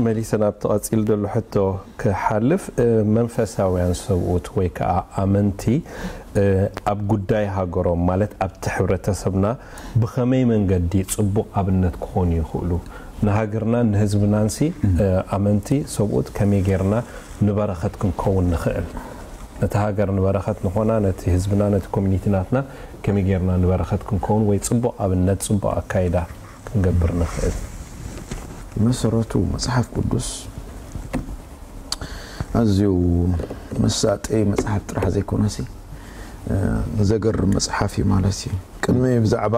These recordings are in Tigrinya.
መሊሰ ናብቲ ቀጺሉ ዘሎ ሕቶ ክሓልፍ፣ መንፈሳውያን ሰብኡት ወይ ከዓ ኣመንቲ ኣብ ጉዳይ ሃገሮም፣ ማለት ኣብቲ ሕብረተሰብና ብኸመይ መንገዲ ጽቡቕ ኣብነት ክኾኑ ይኽእሉ? ንሃገርናን ንህዝብናንሲ ኣመንቲ ሰብኡት ከመይ ጌርና ንበረኸት ክንከውን ንኽእል? ነቲ ሃገር ንበረኸት ንኾና፣ ነቲ ህዝብና፣ ነቲ ኮሚኒቲ ናትና ከመይ ጌርና ንበረኸት ክንከውን ወይ ጽቡቕ ኣብነት፣ ጽቡቕ ኣካይዳ ክንገብር ንኽእል? ብመሰረቱ መጽሓፍ ቅዱስ ኣዝዩ መሳጢ መጽሓፍ ጥራሕ ዘይኮነሲ፣ እ፣ ዘገርም መጽሓፍ እዩ ማለት እዩ። ቅድሚ ብዛዕባ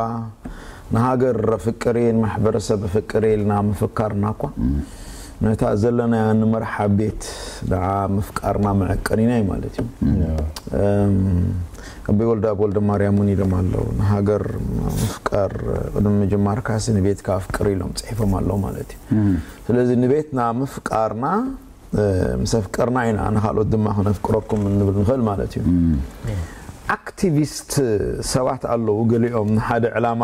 ንሃገር ኣፍቅር እየ፣ ንማሕበረሰብ ኣፍቅር እየ ኢልና ምፍካርና እኳ፣ ነታ ዘለናያ ንመርሓ ቤት ደኣ ምፍቃርና መዐቀኒና እዩ ማለት እዩ። እም፣ ኣቦይ ወልደኣብ ወልደማርያም እውን ኢሎም ኣለዉ፣ ንሃገር ምፍቃር ቅድሚ ምጅማርካሲ ንቤትካ ኣፍቅር ኢሎም ጽሒፎም ኣለዉ ማለት እዩ። ስለዚ ንቤትና ምፍቃርና፣ እ፣ ምስ ኣፍቀርና ኢና ንኻልኦት ድማ ክነፍቅረኩም እንብል ንኽእል ማለት እዩ። ኣክቲቪስት ሰባት ኣለዉ፣ ገሊኦም ንሓደ ዕላማ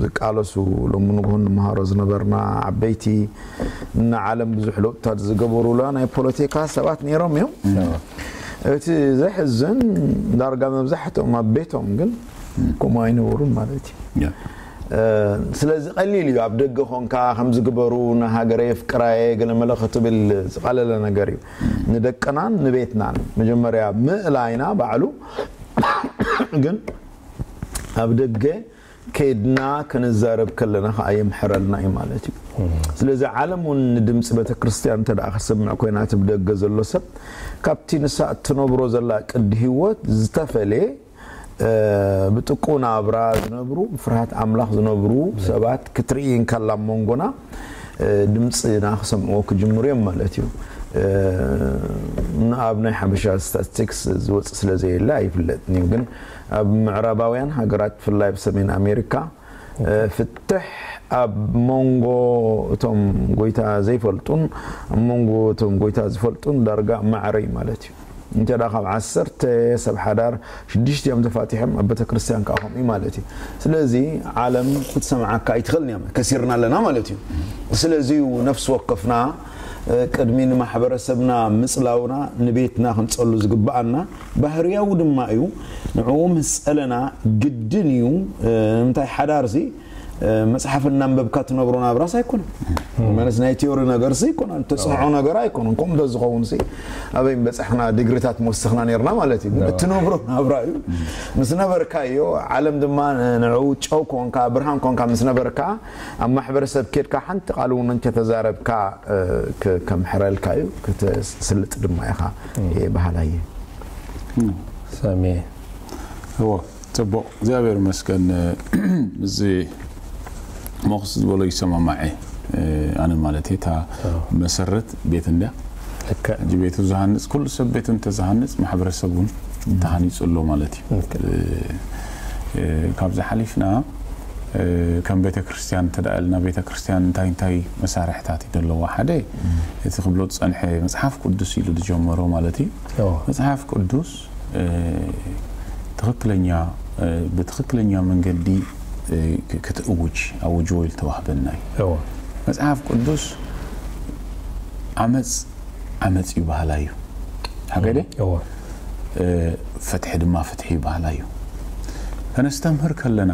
ዝቃለሱ፣ ሎሚ ንግሆ ንመሃሮ ዝነበርና ዓበይቲ፣ ንዓለም ብዙሕ ለውጥታት ዝገበሩላ ናይ ፖለቲካ ሰባት ነይሮም እዮም። እቲ ዘሕዝን ዳርጋ መብዛሕትኦም ኣብ ቤቶም ግን ከምኡ ኣይነበሩን ማለት እዩ። ያ። እ፣ ስለዚ ቀሊል እዩ ኣብ ደገ ኾንካ ከምዚ ግበሩ፣ ንሃገረይ ኣፍቅራየ፣ ገለመለ ክትብል ዝቐለለ ነገር እዩ። ንደቅናን ንቤትናን መጀመርያ ምእላይና ባዕሉ ግን ኣብ ደገ ከይድና ክንዛረብ ከለና ከዓ የምሕረልና እዩ ማለት እዩ። ስለዚ ዓለም እውን ንድምፂ ቤተክርስትያን እንተ ደኣ ክሰምዕ ኮይና፣ እቲ ብደገ ዘሎ ሰብ ካብቲ ንሳ እትነብሮ ዘላ ቅዲ ህይወት ዝተፈለየ፣ እ፣ ብጥቁ ናብራ ዝነብሩ፣ ብፍርሃት ኣምላኽ ዝነብሩ ሰባት ክትርኢ እንከላ ኣብ መንጎና፣ እ፣ ድምፅና ክሰምዕዎ ክጅምሩ እዮም ማለት እዩ። እ፣ ንኣብ ናይ ሓበሻ ስታቲስቲክስ ዝወፅእ ስለ ዘየለ ኣይፍለጥን እዩ፣ ግን ኣብ ምዕራባውያን ሃገራት፣ ብፍላይ ኣብ ሰሜን ኣሜሪካ፣ እ፣ ፍትሕ ኣብ መንጎ እቶም ጎይታ ዘይፈልጡን ኣብ መንጎ እቶም ጎይታ ዝፈልጡን ዳርጋ ማዕረ እዩ ማለት እዩ። እንተ ደኣ ካብ ዓሰርተ ሰብ ሓዳር ሽዱሽተ እዮም ተፋቲሖም፣ ኣብ ቤተ ክርስቲያን ከኣ ከምኡ እዩ ማለት እዩ። ስለዚ ዓለም ክትሰምዓካ ኣይትኽእልን እያ፣ ከሲርና ኣለና ማለት እዩ። ስለዚ እዩ ነፍሲ ወከፍና፣ እ፣ ቅድሚ ንማሕበረሰብና ምጽላውና ንቤትና ክንጸሉ ዝግብኣና ባህርያዊ ድማ እዩ። ንዕኡ ምስ ጸለና ግድን እዩ። እ፣ ንምንታይ ሓዳርሲ፣ እ፣ መጽሓፍ እናንበብካ ትነብሮ ናብራስ ኣይኮነን። መለስ ናይ ቲዮሪ ነገርሲ ኣይኮነን፣ ትጽንዖ ነገር ኣይኮነን። ከምኡ እንተዝኸውንሲ ኣበይ ምበጻሕና፣ ዲግሪታት ምወሰኽና ነርና ማለት እዩ። ግን እትነብሮ ናብራ እዩ። ምስ ነበርካዮ፣ ዓለም ድማ ን-፣ ንዕኡ ጨው ኮንካ፣ ብርሃን ኮንካ ምስ ነበርካ፣ ኣብ ማሕበረሰብ ኬድካ ሓንቲ ቃል እውን እንተተዛረብካ፣ እ፣ ክ-፣ ከምሕረልካ እዩ፣ ክትስልጥ ድማ ኢኻ፣ እየ በሃላይ እየ። ሳሚ። እዎ፣ ጽቡቕ፣ እግዚኣብሔር ይመስገን። እዚ ሞኽስ ዝበሎ ይሰማማዐ፣ እ፣ ኣነ ማለት እየ፣ እታ መሰረት ቤት እንድያ። ልክዕ። ሕጂ ቤቱ ዝሃንጽ፣ ኩሉ ሰብ ቤቱ እንተዝሃንጽ፣ ማሕበረሰብ እውን ተሃኒጹ ኣሎ ማለት እዩ። ልክዕ። እ፣ እ፣ ካብዚ ሓሊፍና፣ እ፣ ከም ቤተ ክርስቲያን እንተ ደኣ ኢልና፣ ቤተ ክርስቲያን እንታይ እንታይ መሳርሕታት እዩ ዘለዋ? ሓደ፣ እቲ ክብሎ ዝጸንሐ መጽሓፍ ቅዱስ ኢሉ ዝጀመሮ ማለት እዩ። እዎ። መጽሓፍ ቅዱስ፣ እ፣ ትኽክለኛ፣ እ፣ ብትኽክለኛ መንገዲ፣ እ፣ ክ-፣ ክትእውጅ፣ ኣውጅዎ ኢሉ ተዋህበና እዩ። እዎ። መጽሓፍ ቅዱስ ዓመጽ ዓመጽ እዩ በሃላይ እዩ። ሓቀይ ድየ? እዎ። እ፣ ፍትሒ ድማ ፍትሒ እዩ በሃላይ እዩ። ከነስተምህር ከለና፣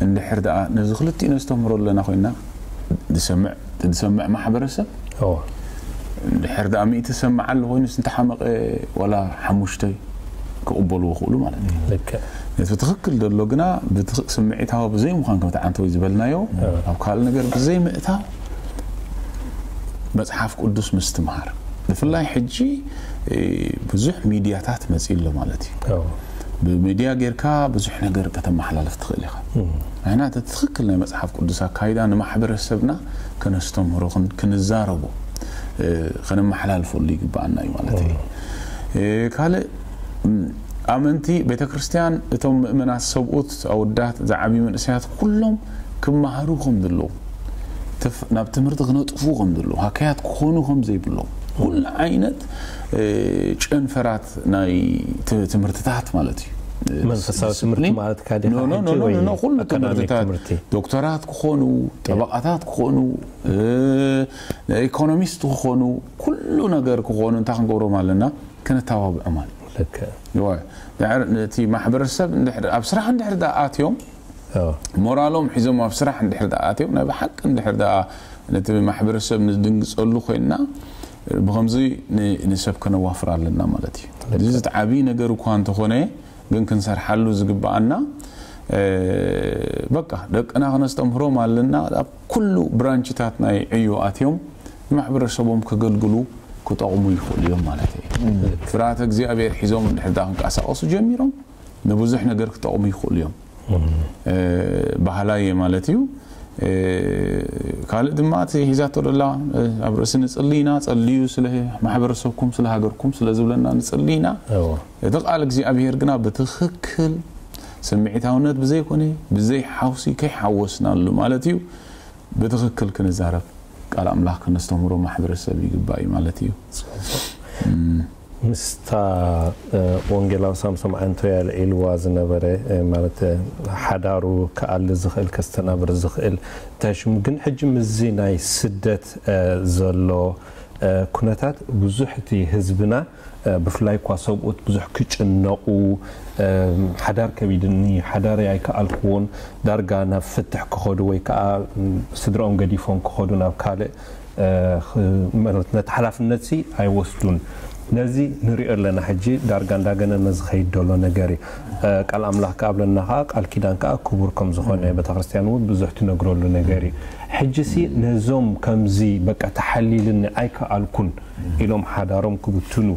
እንድሕር ደኣ ነዚ ክልቲኡ ነስተምህሮ ኣለና ኮይና፣ ዝሰምዕ፣ ዝሰምዕ ማሕበረሰብ፣ እዎ። እንድሕር ደኣ ሚእቲ ዝሰምዕ ኣሎ ኮይኑስ፣ እንተሓመቐ ዋላ ሓሙሽተ ክቕበልዎ ክእሉ ማለት እዩ። ልክዕ። ነቲ ትኽክል ዘሎ ግና ብትኽ-፣ ስምዒታዊ ብዘይምዃን፣ ከምቲ ዓንተወይ ዝበልናዮ፣ እዎ። ኣብ ካልእ ነገር ብዘይምእታው መጽሓፍ ቅዱስ ምስትምሃር። ብፍላይ ሕጂ፣ እ፣ ብዙሕ ሚድያታት መጺኡ ኣሎ ማለት እዩ። እዎ። ብሚድያ ጌርካ ብዙሕ ነገር ከተመሓላልፍ ትኽእል ኢኻ። እም። ንሕና እቲ ትኽክል ናይ መጽሓፍ ቅዱስ ኣካይዳ ንማሕበረሰብና ከነስተምህሮ፣ ክን-፣ ክንዛረቦ፣ እ፣ ከነመሓላልፈሉ ይግብኣና እዩ ማለት እዩ። እም። እ፣ ካልእ፣ እም፣ ኣመንቲ ቤተ ክርስቲያን፣ እቶም ምእመናት ሰብኡት፣ ኣወዳት፣ ዝዓብዩ መንእሰያት፣ ኩሎም ክመሃሩ ከም ዘለዎም፣ ትፍ-፣ ናብ ትምህርቲ ክነጥፉ ከም ዘለዎም፣ ሃከያት ክኾኑ ከም ዘይብሎም፣ ኩሉ ዓይነት፣ እ፣ ጨንፈራት ናይ ት-፣ ትምህርትታት ማለት እዩ። መንፈሳዊ ትምህርቲ ማለት ካዲ ኖ ኖ ኖ ኖ ኩሉ ትምህርትታት ዶክተራት ክኾኑ፣ ጠበቃታት ክኾኑ፣ ኢኮኖሚስት ክኾኑ፣ ኩሉ ነገር ክኾኑ እንታይ ክንገብሮም ኣለና? ከነተባብዖም ኣለና። እቲ ማሕበረሰብ ኣብ ስራሕ እንድሕር ኣትዮም ሞራሎም ሒዞም ኣብ ስራሕ እንድሕር ኣትዮም ናይ ብሓቂ እንድሕር ነቲ ማሕበረሰብ ንድንግፀሉ ኮይንና ብከምዚ ንሰብ ከነዋፍር ኣለና ማለት እዩ። እዚ ዓብዪ ነገር እኳ እንተኾነ ግን ክንሰርሓሉ ዝግብኣና በቃ ደቅና ክነስተምህሮም ኣለና። ኣብ ኩሉ ብራንችታት ናይ ዕዮ ኣትዮም ንማሕበረሰቦም ከገልግሉ ክጠቕሙ ይኽእሉ እዮም ማለት እዩ። ፍርሃተ እግዚኣብሔር ሒዞም እንድሕር ክንቀሳቀሱ ጀሚሮም ንብዙሕ ነገር ክጠቕሙ ይኽእሉ እዮም። ባህላየ ማለት እዩ። ካልእ ድማ እቲ ሒዛቶ ደላ ኣብ ርእሲ ንጽሊ ኢና፣ ጸልዩ ስለ ማሕበረሰብኩም ስለ ሃገርኩም ስለ ዝብለና ንጽሊ ኢና። እቲ ቃል እግዚኣብሔር ግና ብትኽክል ስምዒታውነት ብዘይኮነ ብዘይ ሓውሲ ከይሓወስናሉ ማለት እዩ ብትኽክል ክንዛረብ ቃል ኣምላኽ ከነስተምህሮ ማሕበረሰብ ይግባእ እዩ ማለት እዩ። ምስታ ወንጌላዊ ሳምሶም ዓንቶያ ልዒልዋ ዝነበረ ማለት ሓዳሩ ክኣሊ ዝኽእል ከስተናብር ዝኽእል ተሽሙ ግን ሕጂ ምስዚ ናይ ስደት ዘሎ ኩነታት ብዙሕ እቲ ህዝብና ብፍላይ እኳ ሰብኡት ብዙሕ ክጭነቑ ሓዳር ከቢድኒ ሓዳር ኣይከኣልክዎን ዳርጋ ናብ ፍትሕ ክኸዱ ወይ ከዓ ስድራኦም ገዲፎም ክኸዱ ናብ ካልእ ነቲ ሓላፍነት ሲ ኣይወስዱን። ነዚ ንሪኦ ኣለና ሕጂ ዳርጋ እንዳገነነ ዝኸይድ ዘሎ ነገር እዩ። ቃል ኣምላኽ ከኣብለና ከዓ ቃል ኪዳን ከዓ ክቡር ከም ዝኾነ ቤተክርስትያን እውን ብዙሕ ትነግረሉ ነገር እዩ። ሕጂ ሲ ነዞም ከምዚ በቃ ተሓሊልኒ ኣይከኣልኩን ኢሎም ሓዳሮም ክብትኑ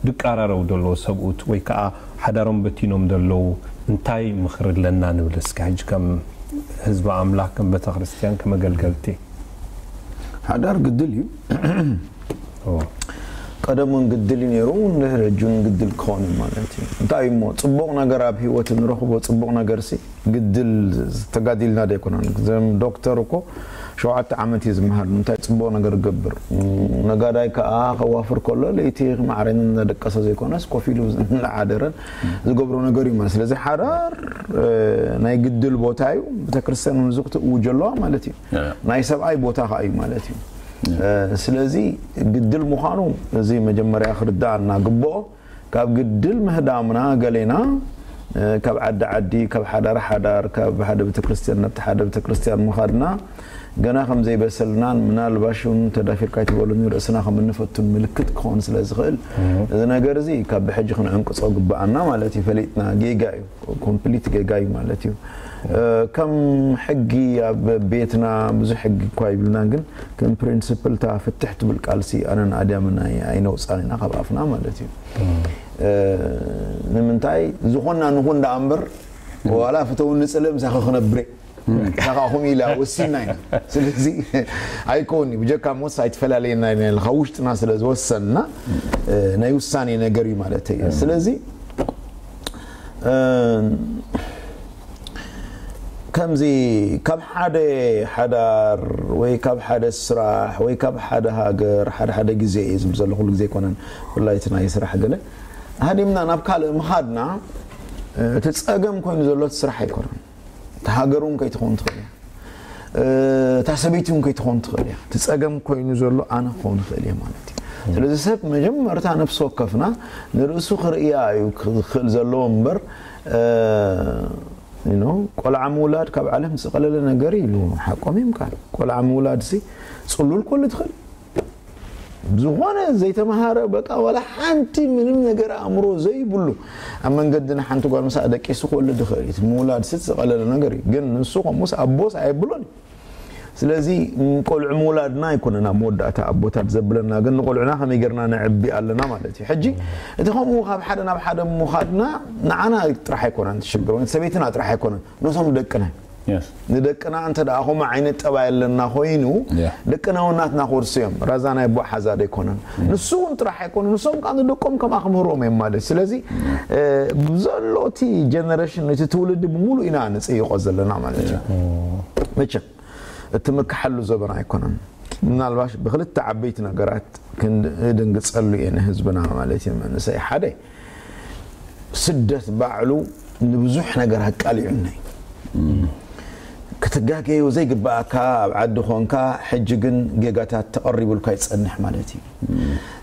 ድቃራረው ደለዎ ሰብኡት ወይ ከዓ ሓዳሮም በቲኖም ደለዉ እንታይ ምኽሪ ኣለና ንብል እስከ ሕጂ ከም ህዝቢ ኣምላኽ ከም ቤተክርስትያን ከም ኣገልገልቲ ሓዳር ግድል እዩ። ቀደም እውን ግድል እዩ ነይሩ፣ እንድሕር ሕጂ እውን ግድል ክኸውን እዩ ማለት እዩ። እንታይ እዩ እሞ ጽቡቕ ነገር ኣብ ህይወት እንረኽቦ ጽቡቕ ነገር ሲ ግድል ተጋዲልና ዶ ኣይኮነን? ዘም ዶክተር እኮ ሸውዓተ ዓመት እዩ ዝመሃር። እንታይ ጽቡቕ ነገር ገብር ነጋዳይ ከዓ ከዋፍር ከሎ ለይቲ ማዕረን እናደቀሰ ዘይኮነስ ኮፍ ኢሉ እናሓደረን ዝገብሮ ነገር እዩ ማለት። ስለዚ ሓዳር ናይ ግድል ቦታ እዩ። ቤተክርስትያን እውን ዝክትእውጀ ኣለዋ ማለት እዩ። ናይ ሰብኣይ ቦታ ከዓ እዩ ማለት እዩ። ስለዚ ግድል ምዃኑ እዚ መጀመርያ ክርዳእና ግብኦ። ካብ ግድል ምህዳምና ገሌና ካብ ዓዲ ዓዲ ካብ ሓዳር ሓዳር ካብ ሓደ ቤተክርስትያን ናብቲ ሓደ ቤተክርስትያን ምኻድና ገና ከም ዘይበሰልናን ምናልባሽ እውን ተዳፊርካ ይትበሉኒ ርእስና ከም እንፈቱን ምልክት ክኸውን ስለ ዝኽእል እዚ ነገር እዚ ካብ ብሕጂ ክንዕንቅጾ ግብኣና ማለት እዩ። ፈሊጥና ጌጋ እዩ። ኮምፕሊት ጌጋ እዩ ማለት እዩ። ከም ሕጊ ኣብ ቤትና ብዙሕ ሕጊ እኳ ይብልና ግን ከም ፕሪንስፕል እታ ፍትሕ ትብል ቃልሲ ኣነን ኣድያምን ኣይነውፃን ኢና ካብ ኣፍና ማለት እዩ። ንምንታይ ዝኾንና ንኹን ደኣ እምበር ዋላ ፍተውኒ ንፅልእ ምሳኺ ክነብር እየ። ንሳኻ ከምኡ ኢላ ወሲንና ኢና። ስለዚ ኣይከውን እዩ ብጀካ ሞስ ኣይትፈላለየና ኢና ኢልና ውሽጥና ስለ ዝወሰንና ናይ ውሳኔ ነገር እዩ ማለት እዩ። ስለዚ ከምዚ ካብ ሓደ ሓዳር ወይ ካብ ሓደ ስራሕ ወይ ካብ ሓደ ሃገር ሓደ ሓደ ግዜ እዩ ዝብል ዘሎ ኩሉ ግዜ ኣይኮነን ብፍላይ እቲ ናይ ስራሕ ገለ ሃዲምና ናብ ካልእ ምኻድና እቲ ፀገም ኮይኑ ዘሎ እቲ ስራሕ ኣይኮነን። እቲ ሃገር እውን ከይትኸውን ትኽእል እያ። እታ ሰበይቲ እውን ከይትኸውን ትኽእል እያ። እቲ ፀገም ኮይኑ ዘሎ ኣነ ክኸውን ይኽእል እየ ማለት እዩ። ስለዚ ሰብ መጀመርታ ነፍሲ ወከፍና ንርእሱ ክርእያ እዩ ክኽእል ዘለዎ እምበር ቆልዓ ምውላድ ካብ ዓለም ዝቐለለ ነገር ኢሉ ሓቆም እዮም ካል ቆልዓ ምውላድ ሲ ፅሉል ኮሉ ትኽእል ዝኾነ ዘይተምሃረ በቃ ዋላ ሓንቲ ምንም ነገር ኣእምሮ ዘይብሉ ኣብ መንገድና ሓንቲ ጓል ምሳኣ ደቂሱ ክወልድ ይኽእል እዩ። ምውላድ ስት ዝቐለለ ነገር እዩ። ግን ንሱ ከምኡስ ኣቦስ ኣየብሎን እዩ። ስለዚ ቆልዑ ምውላድና ኣይኮነን ኣብ መወዳእታ ኣቦታት ዘብለና ግን ንቆልዑና ከመይ ገርና ነዕቢ ኣለና ማለት እዩ። ሕጂ እቲ ከምኡ ካብ ሓደ ናብ ሓደ ምኻድና ንዓና ጥራሕ ኣይኮነን ትሽግር ወይ ሰበይትና ጥራሕ ኣይኮነን ነቶም ደቅና ንደቅና እንተ ደኣ ከምኡ ዓይነት ጠባይ ኣለና ኮይኑ ደቅና እውን ናትና ክወርሱ እዮም። ራዛ ናይ ኣቦ ሓዛ ዶ ኣይኮነን ንሱ እውን ጥራሕ ኣይኮነ ንሶም ከዓ ንደቆም ከምኣ ክምህርዎም እዮም ማለት ስለዚ ብዘሎ እቲ ጀነሬሽን እቲ ትውልዲ ብምሉእ ኢና ንፅይቆ ዘለና ማለት እዩ። መቸም እቲ ምክሓሉ ዘበና ኣይኮነን። ምናልባሽ ብክልተ ዓበይቲ ነገራት ክንድንግፀሉ እየ ንህዝብና ማለት እዩ። መንእሰይ ሓደ ስደት ባዕሉ ንብዙሕ ነገር ኣቃሊዑና እዩ። ክትጋገዩ ዘይግባኣካ ኣብ ዓዲ ኾንካ፣ ሕጂ ግን ጌጋታት ተቐሪቡልካ ይጸንሕ ማለት እዩ።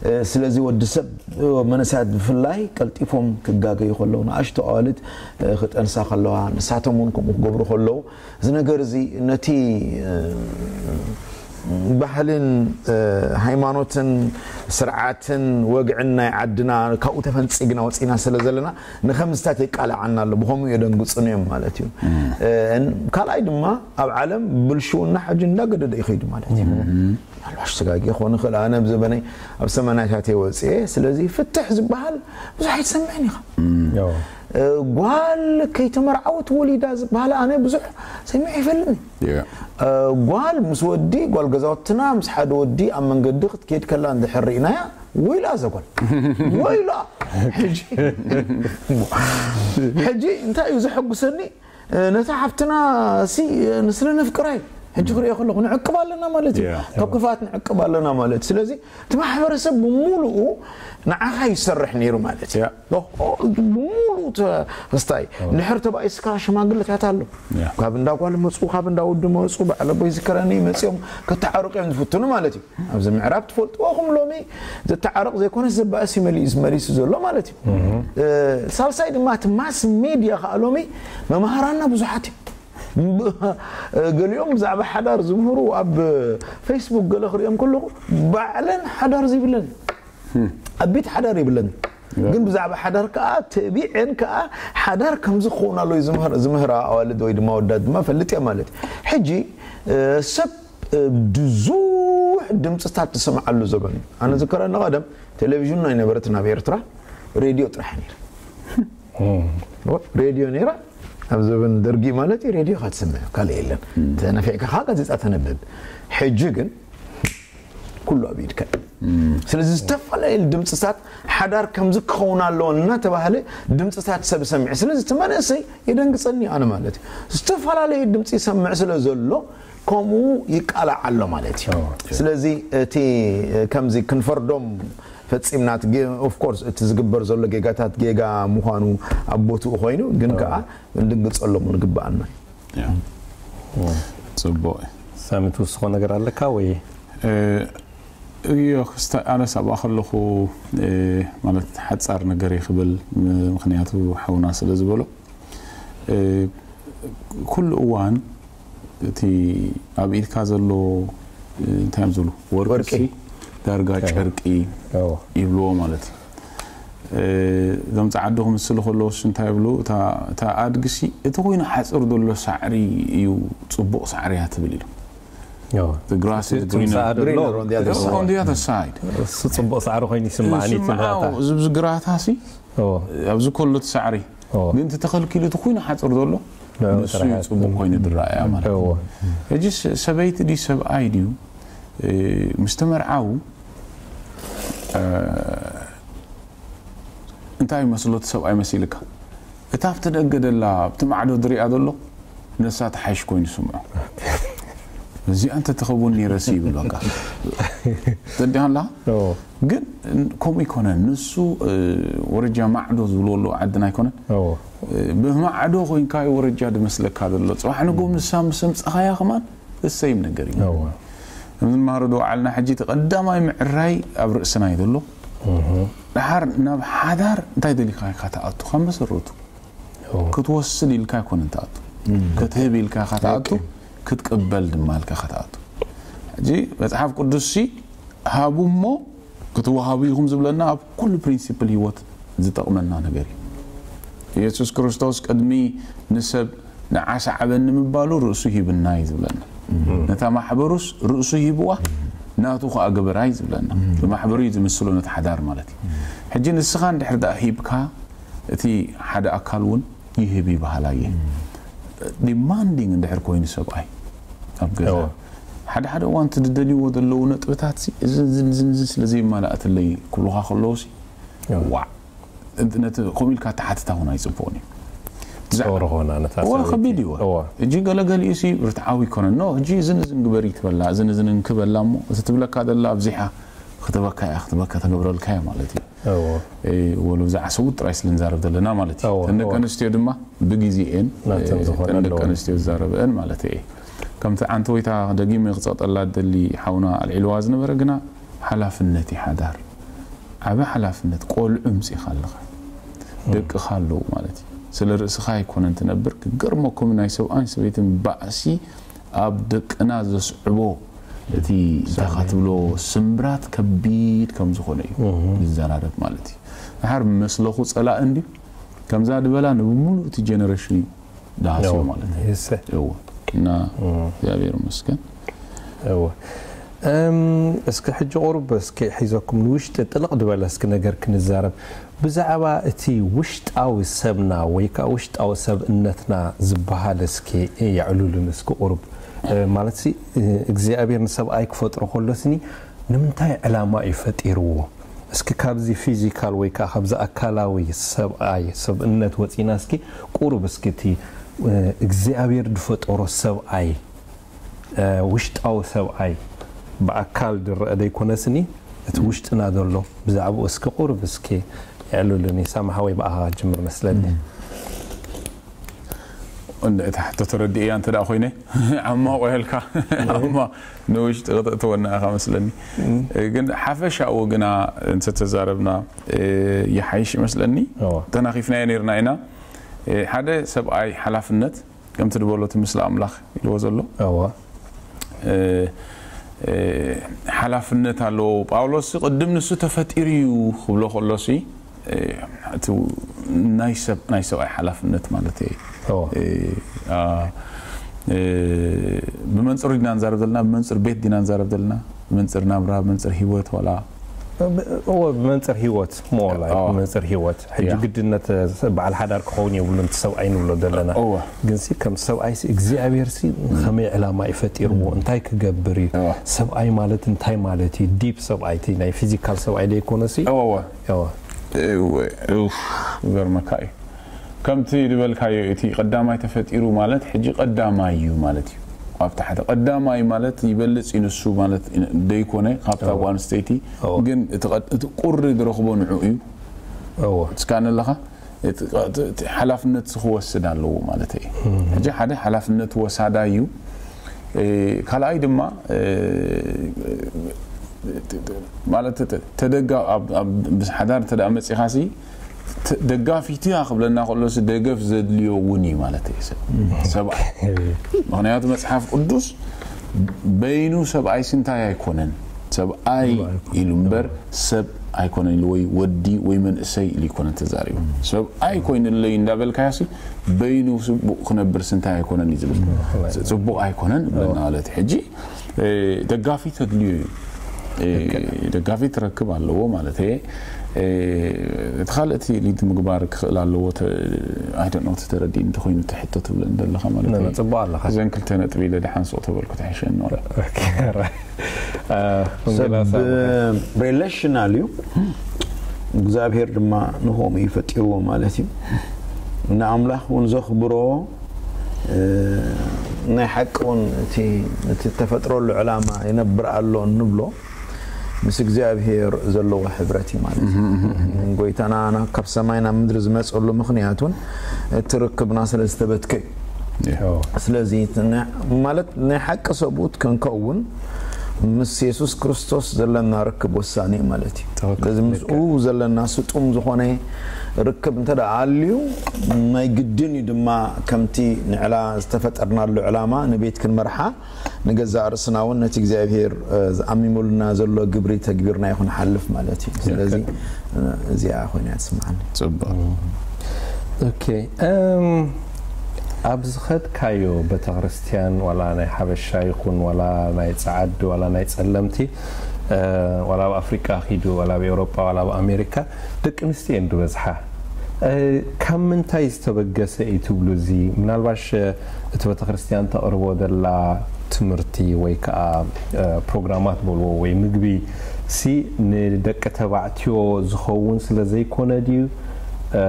እ፣ ስለዚ ወዲ ሰብ፣ እ፣ መንእሰያት ብፍላይ ቀልጢፎም ክጋገዩ ከለዉ፣ ንኣሽቱ ኣዋልድ፣ እ፣ ክጠንሳ ከለዋ፣ ንሳቶም እውን ከምኡ ክገብሩ ከለዉ፣ እዚ ነገር እዚ ነቲ፣ እ፣ ባህልን፣ እ፣ ሃይማኖትን ስርዓትን ወግዕን ናይ ዓድና ካብኡ ተፈንጺግና ወጺና ስለ ዘለና፣ ንኸምዝታት የቃልዓና ኣሎ። ብኸምኡ የደንግጹን እዮም ማለት እዩ። እ፣ ካልኣይ ድማ ኣብ ዓለም ብልሽውና ሕጂ እንዳገደደ ይኸይዱ ማለት እዩ። ምናልባሽ ስጋጌ ክኾን ይኽእል። ኣነ ኣብ ዘበነይ ኣብ ሰማንያታት እየ ወፅኤ። ስለዚ ፍትሕ ዝበሃል ብዙሕ ኣይትሰምዕን ኢኻ። እ፣ ጓል ከይተመርዓወት ወሊዳ ዝበሃል ኣነ ብዙሕ ሰሚዐ ይፈልጥን። እ፣ ጓል ምስ ወዲ፣ ጓል ገዛውትና ምስ ሓደ ወዲ ኣብ መንገዲ ክትከይድ ከላ እንድሕር ርኢናያ፣ ወይላ እዛ ጓል። ወይላ። ሕጂ፣ ሕጂ እንታይ እዩ ዘሐጉሰኒ? እ፣ ነታ ሓፍትና ሲ፣ እ፣ ንስለ ነፍቅራ እዩ። ሕጂ ክሪኦ ከለኹ ንዕቅብ ኣለና ማለት እዩ። ካብ ክፍኣት ንዕቅብ ኣለና ማለት። ስለዚ እቲ ማሕበረሰብ ብምሉኡ ንዓኻ ይሰርሕ ነይሩ ማለት እዩ። ኦ፣ ኦ፣ ብምሉኡ ተ-፣ ክስታይ። ድሕር ተባኢስካ ሽማግለታት ኣሎ። ካብ እንዳ ጓል መፁ፣ ካብ እንዳ ወዲ መፁ፣ በዓል ኣቦይ ዝከረኒ መፂኦም ከተዓርቁ እዮም ዝፍትኑ ማለት እዩ። ኣብዚ ምዕራብ ትፈልጥዎ ኹም ሎሚ ዘተዓርቕ ዘይኮነስ ዘባእስ እዩ መሊኡ፣ መሊሱ ዘሎ ማለት እዩ። እ፣ ሳልሳይ ድማ እቲ ማስ ሜድያ ከዓ ሎሚ መምሃራና ብዙሓት እዮም። ብ-፣ ገሊኦም ብዛዕባ ሓዳር ዝምህሩ ኣብ ፌስቡክ ገለ ክሪኦም ከለኹ ባዕለን ሓዳር ዘይብለን፣ ኣቢት ሓዳር ይብለን። ግን ብዛዕባ ሓዳር ከዓ ተቢዐን ከዓ ሓዳር ከምዚ ክኸውን ኣሎ እዩ ዝምህር-፣ ዝምህራ ኣዋልድ ወይ ድማ ወዳት ድማ ፈልጥ እየ ማለት እዩ። ሕጂ፣ እ፣ ሰብ፣ እ፣ ብዙሕ ድምፅታት ትሰምዓሉ ዘበን እዩ። ኣነ ዝከረኒ ቀደም ቴሌቪዥን ኣይነበረትን ኣብ ኤርትራ፣ ሬድዮ ጥራሕ ነይሩ። ሬድዮ ነይራ። ኣብ ዘበን ደርጊ ማለት እዩ፣ ሬድዮ ኢኻ ትሰምዕ፣ ካልእ የለን። ተነፊዕካ ከዓ ጋዜጣ ተንብብ። ሕጂ ግን ኩሉ ኣብ ኢድካ እዩ። ስለዚ ዝተፈላለዩ ድምፅታት ሓዳር ከምዚ ክኸውን ኣለዎ እናተባህለ ድምፅታት ሰብ ይሰምዕ። ስለዚ እቲ መንእሰይ የደንግፀኒ ኣነ ማለት እዩ። ዝተፈላለዩ ድምፂ ይሰምዕ ስለ ዘሎ ከምኡ ይቃላዕ ኣሎ ማለት እዩ። ስለዚ እቲ ከምዚ ክንፈርዶም ፈጺምና እቲ ጌ-፣ ኦፍ ኮርስ እቲ ዝግበር ዘሎ ጌጋታት ጌጋ ምዃኑ ኣብ ቦትኡ ኮይኑ፣ ግን ከኣ ክንድንግጸሎም እውን ግብኣና እዩ። ያ። ጽቡቕ እዩ። ሳሚ፣ ትውስኾ ነገር ኣለካ ወይ? እ፣ እዮ፣ ክስተ-፣ ኣነስ ኣብኣ ከለኹ፣ እ፣ ማለት ሓጻር ነገር እየ ክብል፣ ም-፣ ምኽንያቱ ሓውና ስለ ዝበሎ፣ እ፣ ኩሉ እዋን እቲ ኣብ ኢድካ ዘሎ፣ እ፣ እንታይ እዮም ዝብሉ? ወርቂ ወርቂ። ሲ ዳርጋ ኦኬ። ጨርቂ ኦ። ይብልዎ ማለት እዩ። እ፣ እዞም ጸዓዱ ክምስሉ ከለዎስ እንታይ ይብሉ? እታ፣ እታ ኣድጊ ሲ እቲ ኮይኑ ሓጽር ዘሎ ሳዕሪ እዩ ጽቡቕ ሳዕሪ እያ ትብል ኢሉ። ኦ። The grass is እቲ greener ትምሳኣ ዘሎ greener on the other side. On the other side. እሱ ጽቡቕ ሳዕሪ ኮይኑ ይስምዓኒ ይስምዓ፣ ትምህራታ። እዚ ብዚ ግራታ ሲ ኦ። ኣብዚ ከሎ እቲ ሳዕሪ ኦ። ግን እቲ ተኸልኪሉ እቲ ኮይኑ ሓጽር ዘሎ ንዑ ንሱ ጥራሕ እዩ ጽቡቕ ኮይኑ ዝረኣያ ማለት እዩ። እዎ። ሕጂ ስ-፣ ሰበይቲ ድዩ ሰብኣይ ድዩ፣ እ፣ ምስ ተመርዓዉ፣ እ፣ እንታይ መስሎ እቲ ሰብኣይ መሲልካ? እታ ኣብቲ ደገ ደላ፣ ኣብቲ ማዕዶ ዝሪኣ ዘሎ፣ ንሳ ትሓይሽ ኮይኑ ይስምዖ። እዚኣ እንተትኸውን ነይረሲ ይብል በቃ። ተዲኣ ኣላ? ኦ። ግን ከምኡ ኣይኮነን። ንሱ፣ እ፣ ወረጃ ማዕዶ ዝብልዎ ኣለዉ ዓድና ኣይኮነን? ኦ። እ፣ ብማዕዶ ኮይንካ እዩ ወረጃ ዝመስለካ ዘሎ። ጽባሕ ንግሆ ንሳ ምስ ኣምጻኻያ ከማን እሰይም ነገር እዩ። እወ። ከምዚ ንመሃሮ ዶ ዓልና ሕጂ እቲ ቀዳማይ ምዕራይ ኣብ ርእስና እዩ ዘሎ። እህ። ደሓር ናብ ሓዳር እንታይ ደሊኻ ኢኻ ትኣቱ? ካብ መሰረቱ እወ። ክትወስድ ኢልካ ኣይኮነን ትኣቱ። እም። ክትህብ ኢልካ ኢኻ ትኣቱ፣ ደቂ። ክትቅበል ድማ ኢልካ ኢኻ ትኣቱ። ሕጂ መጽሓፍ ቅዱስሲ ሃቡ እሞ ክትወሃቡ ኢኹም ዝብለና ኣብ ኩሉ ፕሪንሲፕል ህይወት ዝጠቕመና ነገር እዩ። ኢየሱስ ክርስቶስ ቅድሚ ንሰብ ንዓ ሰዓበኒ ምባሉ ርእሱ ሂብና እዩ ዝብለና። እም። ነታ ማሕበሩስ ርእሱ ሂብዋ፣ እም። ናቱ ኸኣ ግበራ እዩ ዝብለና። እም። ብማሕበሩ እዩ ዝምስሎ ነቲ ሓዳር ማለት እዩ። እም። ሕጂ ንስኻ እንድሕር ደኣ ሂብካ፣ እቲ ሓደ ኣካል እውን ይህብ ይበሃል ኣየ። እም። ዲማንዲንግ እንድሕር ኮይኑ ሰብኣይ ኣብ ገዛ፣ እዎ። ሓደ ሓደ እዋን እቲ ዝደልይዎ ዘለዉ ነጥብታት ሲ፣ እዚ፣ እዚ፣ እዚ፣ እዚ ስለ ዘይማላእትለይ ክብሉኻ ከለዉ ሲ፣ እዎ። ዋዕ። ነቲ ከምኡ ኢልካ ተሓትታ እውን ኣይጽቡቕን እዩ። ብዛዕባ ጸወር ኾና ነታ እዋ፣ ሰበይቲ። ከቢድ እዩ። እዋ። እጂ ገለገሊኡ ሲ ርትዓዊ ይኮነን። ኖ፣ እጂ እዝን እዝን ግበሪ ትበላ፣ እዝን እዝን እንክበላ እሞ፣ እቲ ትብለካ ዘላ ኣብዚሓ ክትበካ እያ፣ ክትበካ ተገብረልካ እያ ማለት እዩ። እዎ። ወሎ ብዛዕባ ሰብኡት ጥራይ ስለ ንዛረብ ዘለና ማለት እዩ። እዎ፣ እተን ደቂ እዎ። ኣንስትዮ ድማ ብግዜኤን ናተን ዝኾነ እተን ደቂ ኣለወን። ኣንስትዮ ዝዛረበአን ማለት እየ። ከምቲ ዓንተ ወይታ ደጊመ ክጸቕጠላ ደሊ ሓውና ኣልዒልዋ ዝነበረ ግና ሓላፍነት እዩ ሓዳር። ዓቢ ሓላፍነት፣ ቆልዑ ምጺኻ ኣለኻ። ደቅኻ ኣለዉ ማለት እዩ። ስለ ርእስኻ ኣይኮነን ትነብር። ክገርመኩም ናይ ሰብኣይን ሰበይትን ባእሲ ኣብ ደቅና ዘስዕቦ እቲ እንታይ ኢኻ ትብሎ ስምብራት ከቢድ ከም ዝኾነ እዩ ዝዘራረብ ማለት እዩ። ድሓር መስለኹ ጸላእ እንዲ ከምዛ ድበላ ንብሙሉእ እቲ ጀነሬሽን እዩ ድሃስዮ እዎ። ማለት እዩ። ይሰ- እዎ። እና እግዚኣብሔር ይመስገን። እዎ። እም፣ እስኪ ሕጂ ቁሩብ እስኪ ሒዘኩም ንውሽጢ ጥልቕ ዝበለ እስኪ ነገር ክንዛረብ። ብዛዕባ እቲ ውሽጣዊ ሰብና ወይ ከዓ ውሽጣዊ ሰብእነትና ዝበሃል እስኪ የዕሉልን እስኪ ቁሩብ። እ፣ ማለት ሲ፣ እ፣ እግዚኣብሔር ንሰብኣይ ክፈጥሮ ከሎስኒ ንምንታይ ዕላማ እዩ ፈጢርዎ? እስኪ ካብዚ ፊዚካል ወይ ከዓ ካብዚ ኣካላዊ ሰብኣይ ሰብእነት ወፂና እስኪ ቁሩብ እስኪ እቲ፣ እ፣ እግዚኣብሔር ዝፈጠሮ ሰብኣይ፣ እ፣ ውሽጣዊ ሰብኣይ ብኣካል ዝረአ ዘይኮነስኒ እቲ ውሽጥና ዘሎ ብዛዕባኡ እስኪ ቁሩብ እስኪ የዕሉልኒ። ሳማ ሓወይ ብኣኻ ጅምር መስለኒ። እንደ እቲ ሕቶ ተረዲእያ እንተ ደኣ ኮይነ ዓማ ቆየልካ ዓማ ንውሽጢ ክተእትወና ኢኻ መስለኒ። ግን ሓፈሻኡ ግና እንተተዛረብና ይሓይሽ ይመስለኒ። እዎ። ተናኺፍናዮ ነይርና ኢና። ሓደ ሰብኣይ ሓላፍነት ከምቲ ዝበሎ እቲ ምስሊ ኣምላኽ ኢልዎ ዘሎ እዎ። ሓላፍነት ኣለዎ። ጳውሎስ ቅድም ንሱ ተፈጢሩ እዩ ክብሎ ከሎሲ እቲ ናይ ሰብ ናይ ሰብኣይ ሓላፍነት ማለት እዩ። እዎ። እ፣ አ፣ እ፣ ብመንፅር ዲና ንዛረብ ዘለና፣ ብመንፅር ቤት ዲና ንዛረብ ዘለና፣ ብመንፅር ናብራ፣ ብመንፅር ህይወት ዋላ እዎ፣ ብመንፅር ህይወት ሞላ እዎ። ብመንፅር ህይወት ሕጂ ያ። ግድነት በዓል ሓዳር ክኸውን የብሉን እቲ ሰብኣይ ንብሎ ዘለና። እዎ። ግን ሲ ከም ሰብኣይ ሲ እግዚኣብሔር ሲ ከመይ ዕላማ እዩ ፈጢርዎ እንታይ ክገብር እዩ? እዎ። ሰብኣይ ማለት እንታይ ማለት እዩ? ዲፕ ሰብኣይ እቲ ናይ ፊዚካል ሰብኣይ ዘይኮነ ሲ እዎ፣ እዎ። እዎ። እወ፣ ኡፍ፣ ይገርመካ እዩ። ከምቲ ዝበልካዮ እቲ ቀዳማይ ተፈጢሩ ማለት ሕጂ ቀዳማይ እዩ ማለት እዩ። ኣብ ታሕቲ ቀዳማይ ማለት ይበልጽ እዩ ንሱ ማለት ደይኮነ ካብታ እዎ። ጓል ኣንስተይቲ እዎ። ግን እቲ ቀድ-፣ እቲ ቁሪ ዝረኽቦ ንዑ እዩ። እዎ። እስካነ ኣለኻ እቲ ቀ-፣ እቲ፣ እቲ ሓላፍነት ክወስድ ኣለዎ ማለት እዩ። ሕጂ ሓደ ሓላፍነት ወሳዳይ እዩ። እ፣ ካልኣይ ድማ እ፣ ማለት ተ-፣ ተደጋ-፣ ኣብ፣ ኣብ፣ ምስ ሓዳር እንተ ደኣ መጺኻሲ ተ-፣ ደጋፊትያ ክብለና ከሎሲ ደገፍ ዘድልዮ እውን እዩ ማለት እዩ ሰብ። ሰብኣይ። ምኽንያቱ መጽሓፍ ቅዱስ በይኑ ሰብኣይሲ እንታይ ኣይኮነን። ሰብኣይ ኢሉ እምበር ሰብ ኣይኮነን ኢሉ ወይ ወዲ ወይ መንእሰይ ኢሉ ኣይኮነን ተዛሪቡ። ሰብኣይ ኮይኑለይ እንዳበልካያሲ በይኑ ጽቡቕ ክነብርሲ እንታይ ኣይኮነን እዩ ዝብል። ጽቡቕ ኣይኮነን ብለና ማለት እዩ። ሕጂ እ፣ ደጋፊ ተድልዮ እዩ። እ፣ ደጋፊ ትረክብ ኣለዎ ማለት እየ። እ፣ እቲ ካልእ እቲ ሊድ ምግባር ክኽእል ኣለዎ ተ-፣ I don't know፣ ተረዲእ እንተኾይኑ እቲ ሕቶ ትብለ እንደለኻ ማለት ነ-፣ እዩ። ነጽቦ ኣለኻ። እዘን ክልተ ነጥቢ ኢለ ደሓን ሱቕ ተበልኩ ተሕሸኒ ዋላ። ኦኬ፣ ራይት። እ፣ ሰብ ወንጌላዊ ሳሙኤል። ሪሌሽናል እዩ። እግዚኣብሔር ድማ ንኸምኡ እዩ ፈጢርዎ ማለት እዩ። ንኣምላኽ እውን ዘኽብሮ እ፣ ናይ ሓቂ እውን እቲ እቲ ተፈጥረሉ ዕላማ ይነብር ኣሎ እንብሎ ምስ እግዚኣብሔር ዘለዎ ሕብረት እዩ ማለት እዩ። ጎይታና ናብ ካብ ሰማይ ናብ ምድሪ ዝመፀሉ ምኽንያት እውን እቲ ርክብና ስለ ዝተበትከ እዩ። እዎ። ስለዚ እቲ ናይ- ማለት ናይ ሓቂ ሰብኡት ክንከውን ምስ የሱስ ክርስቶስ ዘለና ርክብ ወሳኒ እዩ ማለት እዩ። ትኽክል። ስለዚ ምስኡ ዘለና ስጡም ዝኾነ ርክብ እንተ ደኣ ኣልዩ ናይ ግድን እዩ ድማ ከምቲ ንዕላ ዝተፈጠርናሉ ዕላማ ንቤት ክንመርሓ ንገዛእ ርእስና እውን ነቲ እግዚኣብሔር እ፣ ዝኣሚሙልና ዘሎ ግብሪ ተግቢርና ይኹን ሓልፍ ማለት እዩ። ስለዚ እ፣ እዚኣ ኮይና እያ ትስምዓኒ። ጽቡቕ። ኦኬ፣ እም፣ ኣብ ዝኸድካዮ ቤተክርስትያን ዋላ ናይ ሓበሻ ይኹን ዋላ ናይ ጸዓዱ ዋላ ናይ ጸለምቲ እ፣ ዋላ ኣብ ኣፍሪቃ ኪዱ ዋላ ኣብ ኤውሮጳ ዋላ ኣብ ኣሜሪካ ደቂ ኣንስትዮ እየን ዝበዝሓ። እ፣ ካብ ምንታይ ዝተበገሰ እዩ ትብሉ? እዚ ምናልባሽ እ፣ እቲ ቤተክርስትያን ተቕርቦ ዘላ ትምህርቲ ወይ ከዓ እ፣ ፕሮግራማት በልዎ ወይ ምግቢ ሲ ንደቂ ተባዕትዮ ዝኸውን ስለ ዘይኮነ ድዩ? እ፣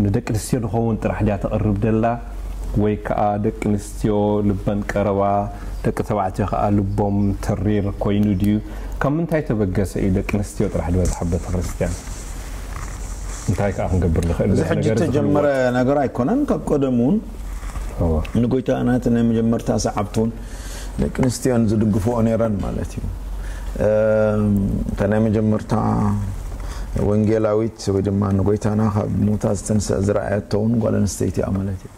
ንደቂ ኣንስትዮ ዝኸውን ጥራሕ ድያ ተቕርብ ዘላ ወይ ከዓ ደቂ ኣንስትዮ ልበን ቀረባ ደቂ ተባዕትዮ ከዓ ልቦም ተሪር ኮይኑ ድዩ? ካብ ምንታይ ተበገሰ እዩ ደቂ ኣንስትዮ ጥራሕ ዝበዝሓ ቤተክርስትያን? እንታይ ከኣ ክንገብር ንኽእል? እዚ ነቲ ሕጂ ነገር እዚ ተጀመረ ክንዋጥ። ነገር ኣይኮነን። ካብ ቀደም እውን እወ። ንጎይታና እቲ ናይ መጀመርታ ሰዓብቲ እውን ደቂ ኣንስትዮን ዝድግፍኦ ነይረን ማለት እዩ። እም፣ እታ ናይ መጀመርታ ወንጌላዊት ወይ ድማ ንጎይታና ካብ ሙታ ዝተንስአ ዝረኣየቶ እውን ጓል ኣንስተይቲ እያ ማለት እዩ።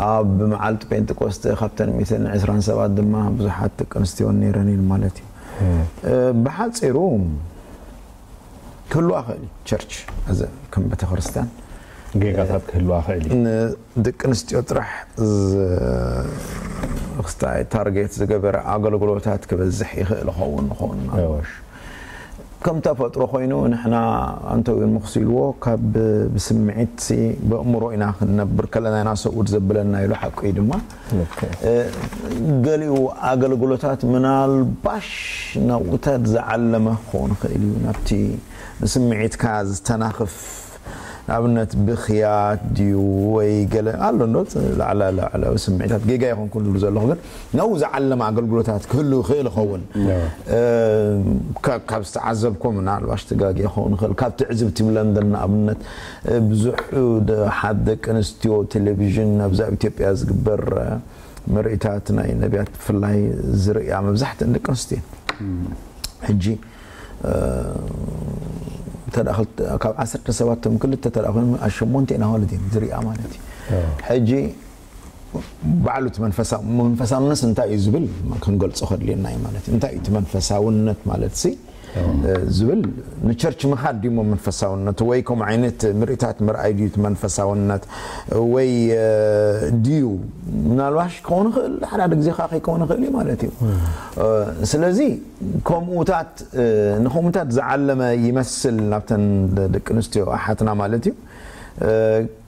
ኣብ መዓልቲ ጴንጤቆስጠ ካብተን ሚእትን ዕስራን ሰባት ድማ ብዙሓት ደቂ ኣንስትዮ ነይረን ኢሉ ማለት እዩ። እ፣ ብሓጺሩ ክህልዋ ክእል እዩ ቸርች ኣዘ ከም ቤተክርስትያን ጌጋታት ክህልዋ ክእል እዩ። ንደቂ ኣንስትዮ ጥራሕ ዝ- ክስታይ ታርጌት ዝገበረ ኣገልግሎታት ክበዝሕ ይኽእል ኸውን ንኸውን እወ። ኣልባሽ ከም ተፈጥሮ ኮይኑ ንሕና ኣንተውን መክሲልዎ ካብ ብስምዒት ሲ ብእምሮ ኢና ክንነብር ከለና ኢና ሰብኡት ዘብለና ኢሉ ሓቁ እዩ ድማ ኦኬ። እ፣ ገሊኡ ኣገልግሎታት ምናልባሽ ናብኡታት ዝዓለመ ክኸውን ይኽእል እዩ ናብቲ ንስምዒትካ ዝተናኽፍ ንኣብነት ብኽያት ድዩ ወይ ገለ ኣሎ እንዶ ላዕላ ላዕላዊ ስምዒታት ጌጋ ይኹን ኩሉ ዘለኹ ግን ናብኡ ዝዓለመ ኣገልግሎታት ክህሉ ይኽእል ይኸውን እ፣ ካብ ካብ ዝተዓዘብኩም ምናልባሽ ትጋጌ ክኸውን ይኽእል ካብ ትዕዝብቲ ብለንደን ንኣብነት እ፣ ብዙሕ ደ- ሓት ደቂ ኣንስትዮ ቴሌቪዥን ኣብዛ ኣብ ኢትዮጵያ ዝግበር እ፣ ምርኢታት ናይ ነቢያት ብፍላይ ዝርእያ መብዛሕትአን ደቂ ኣንስትዮ እየን። ሕጂ እ፣ እንተ ደኣ ክልተ- ካብ ዓሰርተ ሰባት ቶም ክልተ እንተ ደኣ ኮይኖም ኣብ ሸሞንተ ኢና ማለት እዩ ዝርእያ ማለት እዩ። ሕጂ ባዕሉ እቲ መንፈሳ- መንፈሳውነት እንታይ እዩ ዝብል ክንገልጾ ከድልየና እዩ ማለት እዩ። እንታይ እዩ እቲ መንፈሳውነት ማለት ሲ እ፣ ዝብል ንቸርች ምኻድ ድዩ እሞ መንፈሳውነት ወይ ከምኡ ዓይነት ምርኢታት ምርኣይ ድዩ እቲ መንፈሳውነት ወይ እ፣ ድዩ ምናልባሽ ክኸውን ይኽእል ሓደ ሓደ ግዜ ከዓ ከይከውን ይኽእል እዩ ማለት እዩ እ፣ ስለዚ ከምኡታት እ፣ ንከምኡታት ዝዓለመ ይመስል ናብተን ደ- ደቂ ኣንስትዮ ኣሓትና ማለት እዩ እ፣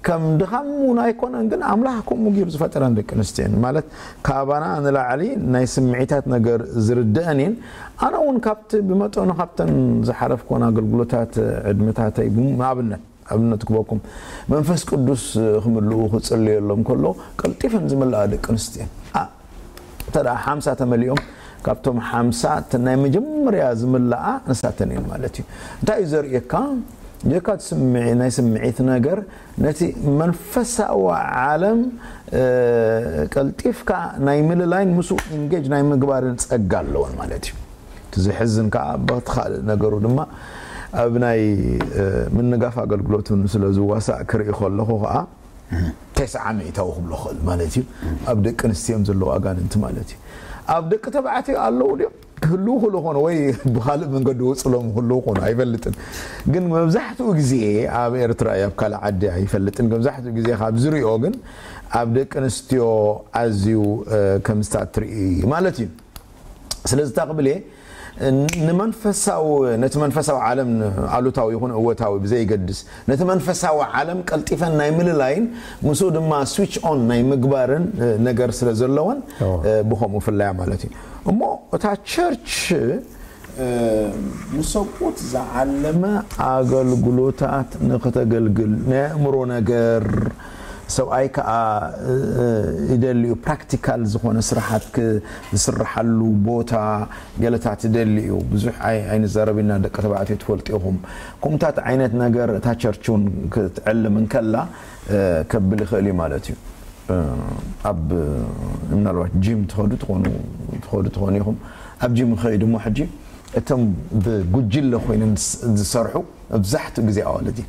ከም ድኻም እውን ኣይኮነን ግን ኣምላኽ ከምኡ ገይሩ ዝፈጠረን ደቂ ኣንስትዮ እየን ማለት ካባና ንላዕሊ ናይ ስምዒታት ነገር ዝርድአን እየን ኣነ እውን ካብቲ ብመጠኑ ካብተን ዝሓለፍኮን ኣገልግሎታት ዕድመታተይ ብም- ኣብነት ኣብነት ክበኩም መንፈስ ቅዱስ ክምልኡ ክጽልየሎም ከሎ ቀልጢፈን ዝምልኣ ደቂ ኣንስትዮ እየን ኣ- እንተ ደኣ ሓምሳ ተመሊኦም ካብቶም ሓምሳ እተን ናይ መጀመርያ ዝምልኣ ንሳተን እየን ማለት እዩ እንታይ እዩ ዘርእየካ ጀካ ስምዒ ናይ ስምዒት ነገር ነቲ መንፈሳዊ ዓለም እ፣ ቀልጢፍካ ናይ ምልላይን ምስኡ ኢንጌጅ ናይ ምግባርን ጸጋ ኣለወን ማለት እዩ እቲ ዝሕዝን ከዓ በቲ ካልእ ነገሩ ድማ ኣብ ናይ እ፣ ምንጋፍ ኣገልግሎትን ስለ ዝዋሳእ ክርኢ ከለኹ ከዓ ተስዓ ሚእታዊ ክብሎ ክእል ማለት እዩ ኣብ ደቂ ኣንስትዮም ዘለዉ ኣጋንንቲ ማለት እዩ ኣብ ደቂ ተባዕትዮ ኣለዉ ድዮም ክህልዉ ክሉ ኾነ ወይ ብካልእ መንገዲ ወፅሎም ክህልዉ ኾነ ኣይፈልጥን ግን መብዛሕትኡ ግዜ ኣብ ኤርትራ እዩ ኣብ ካልእ ዓዲ ኣይፈልጥን መብዛሕትኡ ግዜ ካብ ዝሪኦ ግን ኣብ ደቂ ኣንስትዮ ኣዝዩ እ፣ ከም ዝታት ትርኢ ማለት እዩ ስለዚ እታ ክብል እየ ንመንፈሳዊ ነቲ መንፈሳዊ ዓለም ኣሉታዊ ይኹን እወታዊ ብዘይገድስ ነቲ መንፈሳዊ ዓለም ቀልጢፈን ናይ ምልላይን ምስኡ ድማ ስዊች ኦን ናይ ምግባርን እ፣ ነገር ስለ ዘለወን ኦ። እ፣ ብኸምኡ ፍለያ ማለት እዩ እሞ እታ ቸርች እ፣ ንሰብኡት ዝዓለመ ኣገልግሎታት ንክተገልግል ናይ ኣእምሮ ነገር ሰብኣይ ከዓ እ፣ እ፣ ይደልዩ ፕራክቲካል ዝኾነ ስራሓት ክ- ዝስርሓሉ ቦታ ገለታት ይደሊ እዩ ብዙሕ ኣይ- ኣይንዛረብ ኢና ደቂ ተባዕትዮ ትፈልጡ ኢኹም ከምኡታት ዓይነት ነገር እታ ቸርች እውን ክትዕልም እንከላ እ፣ ከብል ይኽእል እዩ ማለት እዩ እ፣ ኣብ ምናልባት ጂም ትኸዱ ትኾኑ ትኸዱ ትኾኑ ኢኹም ኣብ ጂም ከይዱ እሞ ሕጂ እቶም ብጉጅለ ኮይኖም ዝስ- ዝሰርሑ መብዛሕትኡ ግዜ ኣዋልድ እዩ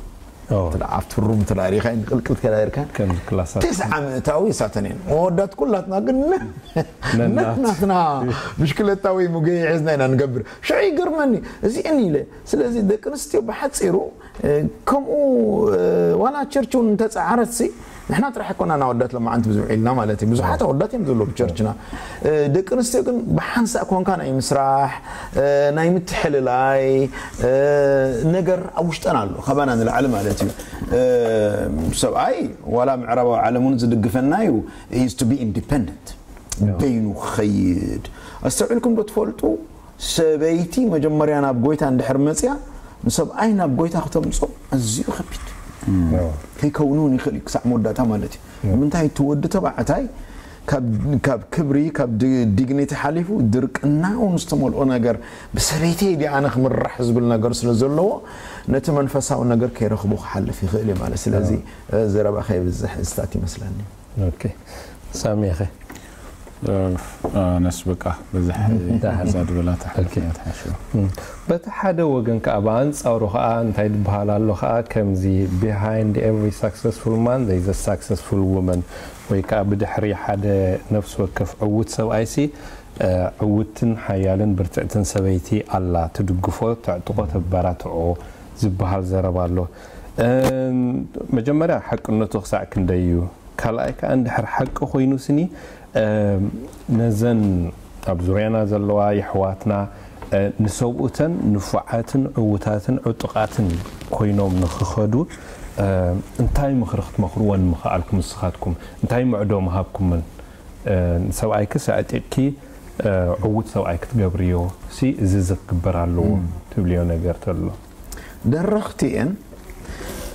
ኦ። ትዳ ኣብቲ ሩም ትዳ ሪኻይን ቅልቅል ከዳይርካ ከም ክላሳት ተስዓ ምእታዊ እሳተን እየን መወዳት ኩላትና ግን ነናት። ነናትና ብሽክለታ ወይ ሙገ ሒዝና ኢና ንገብር ሽዑ ይገርመኒ እዚአን ኢለ ስለዚ ደቂ ኣንስትዮ ብሓፂሩ እ፣ ከምኡ እ፣ ዋላ ቸርች እውን እንተፀዓረት ሲ ንሕና ጥራሕ ኣይኮና ናወዳት ለማዓንቲ ብዙሕ ኢልና ማለት እዩ ብዙሓት ኣወዳት እዮም ዘለዉ ብቸርችና እ፣ ደቂ ኣንስትዮ ግን ብሓንሳእ ኮንካ ናይ ምስራሕ እ፣ ናይ ምትሕልላይ እ፣ ነገር ኣብ ውሽጠን ኣሎ ካባና ንላዕሊ ማለት እዩ እ፣ ሰብኣይ ዋላ ምዕራባዊ ዓለም እውን ዝድግፈና እዩ is to be independent በይኑ ክኸይድ ኣስተውዒልኩም ዶ ትፈልጡ ሰበይቲ መጀመርያ ናብ ጎይታ እንድሕር መፅያ ንሰብኣይ ናብ ጎይታ ክተምፅኦ ኣዝዩ ከቢድ ከይከውን እውን ይኽእል እዩ ክሳዕ መወዳእታ ማለት እዩ ንምንታይ እቲ ወዲ ተባዕታይ ካብ ክብሪ ካብ ዲግኒቲ ሓሊፉ ድርቅና እውን ዝተመልኦ ነገር፣ ብሰበይተይ ድኣ ኣነ ክምራሕ ዝብል ነገር ስለ ዘለዎ፣ ነቲ መንፈሳዊ ነገር ከይረኽቦ ክሓልፍ ይኽእል እዩ ማለት። ስለዚ ዘረባ ከይብዝሕ ዝታት ይመስለኒ። ሳሚኸ ነስ በቃ በዛ እዛ ድበላ ተሓልፍያ ትሓሽው። በቲ ሓደ ወገን ከዓ ብኣንፃሩ ከዓ እንታይ ዝበሃል ኣሎ ከዓ፣ ከምዚ behind every successful man there is a successful woman፣ ወይ ከዓ ብድሕሪ ሓደ ነፍሲ ወከፍ ዕውት ሰብኣይሲ ዕውትን ሓያልን ብርትዕትን ሰበይቲ ኣላ፣ ትድግፎ፣ ተዕጥቆ፣ ተበራትዖ ዝበሃል ዘረባ ኣሎ። መጀመርያ ሓቅነቱ ክሳዕ ክንደይ እዩ? ካልኣይ ከዓ እንድሕር ሓቂ ኮይኑ ስኒ ነዘን ኣብ ዙርያና ዘለዋ የሕዋትና ንሰብኡተን ንፉዓትን ዕውታትን ዕጡቓትን ኮይኖም ንክኸዱ እንታይ ምኽሪ ክትመኽርወን ምኽኣልኩም? ንስኻትኩም እንታይ ምዕዶ ምሃብኩምን? ንሰብኣይክስ ኣዕጢቕኪ ዕውት ሰብኣይ ክትገብርዮ ሲ እዚ እዚ ክግበር ኣለዎ ትብልዮ ነገር ተሎ? ደረኽቲ እየን።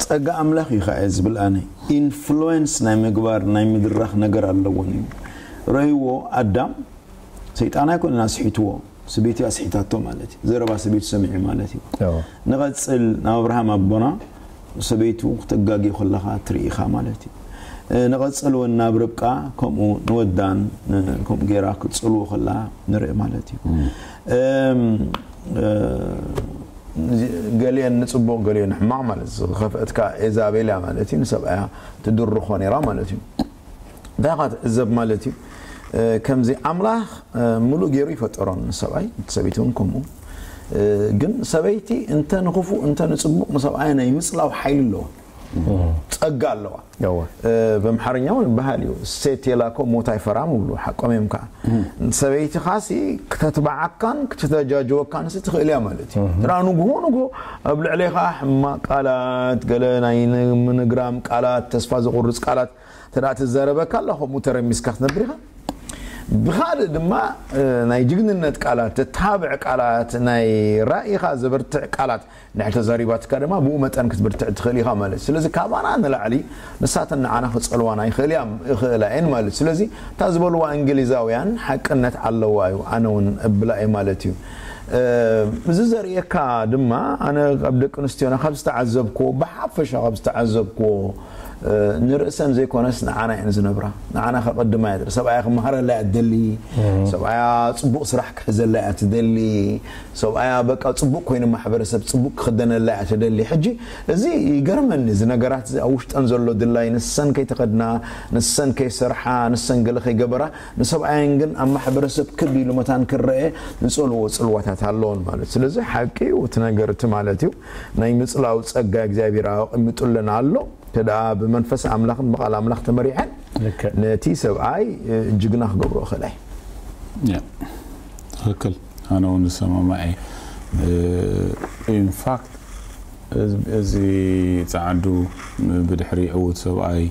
ጸጋ ኣምላኽ እዩ ከዓ ዝብል ኣነ። ኢንፍሉዌንስ ናይ ምግባር ናይ ምድራኽ ነገር ኣለዎን እዩ። ረእይዎ ኣዳም ሰይጣን ኣይኮነን ኣስሒትዎ፣ ሰበይቲ ኣስሒታቶ ማለት እዩ። ዘረባ ሰበይቲ ሰሚዑ ማለት እዩ። ንቐጽል ናብ ኣብርሃም ኣቦና ሰበይቱ ክተጋጊ ከለኻ ትርኢ ኢኻ ማለት እዩ። ንቐጽል እውን ናብ ርብቃ ከምኡ ንወዳን ከምኡ ገይራ ክትጸልዎ ከላ ንርኢ ማለት እዩ። ገሊአን ንጽቡቕ ገሊአን ንሕማቕ ማለት እዩ። ዝኸፍአት ከዓ ኤዛቤል እያ ማለት እዩ። ንሰብኣያ ትድርኾ ነይራ ማለት እዩ። እንታይ ኢኻ ትዕዘብ ማለት እዩ? ከምዚ ኣምላኽ ምሉእ ገይሩ ይፈጠሮም ንሰብኣይ ሰበይቲ እውን ከምኡ። ግን ሰበይቲ እንተ ንኽፉእ እንተ ንጽቡቕ ንሰብኣያ ናይ ምጽላው ሓይሊ ኣለዋ፣ ጸጋ ኣለዋ። በምሓርኛ እውን በሃል እዩ፣ ሴት የላኮ ሞት ኣይፈራም ይብሉ። ሓቆም እዮም ከዓ። ሰበይቲ ኻሲ ክተትባዓካን ክተተጃጅወካን ሲ ትኽእል እያ ማለት እዩ። ትራ ንግሆ ንግሆ ኣብ ልዕሌኻ ሕማቕ ቃላት ገለ ናይ ምንግራም ቃላት ተስፋ ዘቑርጽ ቃላት ተዳ ትዛረበካ ኣላ ከምኡ ተረሚስካ ክትነብር ኢኻ። ብኻልእ ድማ ናይ ጅግንነት ቃላት፣ ተታብዕ ቃላት፣ ናይ ራእይኻ ዘበርትዕ ቃላት እንድሕር ተዛሪባትካ ድማ ብኡ መጠን ክትብርትዕ ትኽእል ኢኻ ማለት። ስለዚ ካባና ንላዕሊ ንሳተን ንዓና ክጸልዋና ይኽእል እያ ይኽእላ እየን ማለት። ስለዚ እታ ዝበልዋ እንግሊዛውያን ሓቅነት ኣለዋ እዩ፣ ኣነ እውን እብላ እየ ማለት እዩ። እዚ ዘርእየካ ድማ ኣነ ኣብ ደቂ ኣንስትዮና ካብ ዝተዓዘብክዎ፣ ብሓፈሻ ካብ ዝተዓዘብክዎ ንርእሰን ዘይኮነስ ንዓና እየን ዝነብራ። ንዓና ከቐድማ እያ ትደሊ። ሰብኣያ ክመሃረላ እያ ትደሊ። ሰብኣያ ጽቡቕ ስራሕ ክሕዘላ እያ ትደሊ። ሰብኣያ በቃ ጽቡቕ ኮይኑ ማሕበረሰብ ጽቡቕ ክኽደነላ እያ ትደሊ። ሕጂ እዚ ይገርመኒ፣ እዚ ነገራት እዚ ኣብ ውሽጠን ዘሎ ድላይ፣ ንሰን ከይተኸድና፣ ንሰን ከይሰርሓ፣ ንሰን ገለ ከይገበራ፣ ንሰብኣየን ግን ኣብ ማሕበረሰብ ክብ ኢሉ መታን ክረአ ዝጸልዎ ጽልዋታት ኣለዎን ማለት። ስለዚ ሓቂ እዩ እቲ ነገር እቲ ማለት እዩ። ናይ ምጽላው ጸጋ እግዚኣብሔር ኣቐሚጡልና ኣሎ። ተደኣ ብመንፈስ ኣምላኽን ብቓል ኣምላኽ ተመሪሐን ነቲ ሰብኣይ ጅግና ክገብሮ እኽእላይ። ትኽክል። ኣነ እውን ዝሰማማዕ እየ። ኢንፋክት እዚ ጸዓዱ ብድሕሪ ዕዉት ሰብኣይ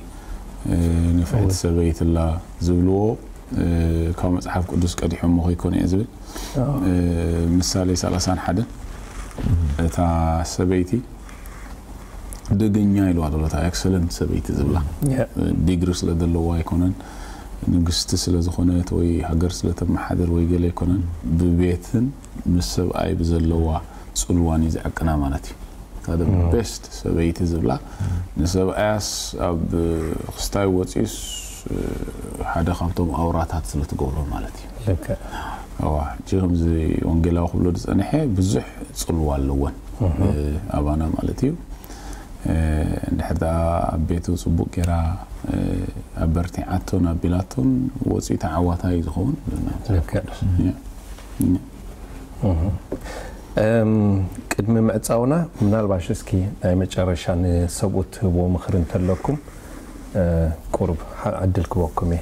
ንፍዕቲ ሰበይትላ ዝብልዎ ካብ መጽሓፍ ቅዱስ ቀዲሖሞ ከይኮነ እየ ዝብል። ምሳሌ ሰላሳን ሓደን እታ ሰበይቲ ደገኛ ኢልዋ ዘሎ፣ እታ ኤክሰለንት ሰበይቲ ዝብላ። ዲግሪ ስለ ዘለዋ ኣይኮነን፣ ንግስቲ ስለ ዝኾነት ወይ ሃገር ስለ ተመሓደር ወይ ገለ ኣይኮነን፣ ብቤትን ምስ ሰብኣይ ብዘለዋ ጽልዋን እዩ ዝዕቅና ማለት እዩ። እታ ቤስት ሰበይቲ ዝብላ፣ ንሰብኣያስ ኣብ ክስታይ ወፂኡስ ሓደ ካብቶም ኣውራታት ስለ ትገብሮ ማለት እዩ። እዋ ሕጂ ከምዚ ወንጌላዊ ክብሎ ዝፀንሐ ብዙሕ ፅልዋ ኣለወን ኣባና ማለት እዩ። እንድሕር ደኣ ኣብ ቤቱ ፅቡቅ ጌራ ኣበርቲዓቶን ኣቢላቶን ወፂኡ ተዓዋታይ እዩ ዝኸውን። ቅድሚ ምዕፃውና ምናልባሽ እስኪ ናይ መጨረሻ ንሰብኡት ትህብዎ ምኽሪ እንተለኩም ቁሩብ ዕድል ክበኩም እየ።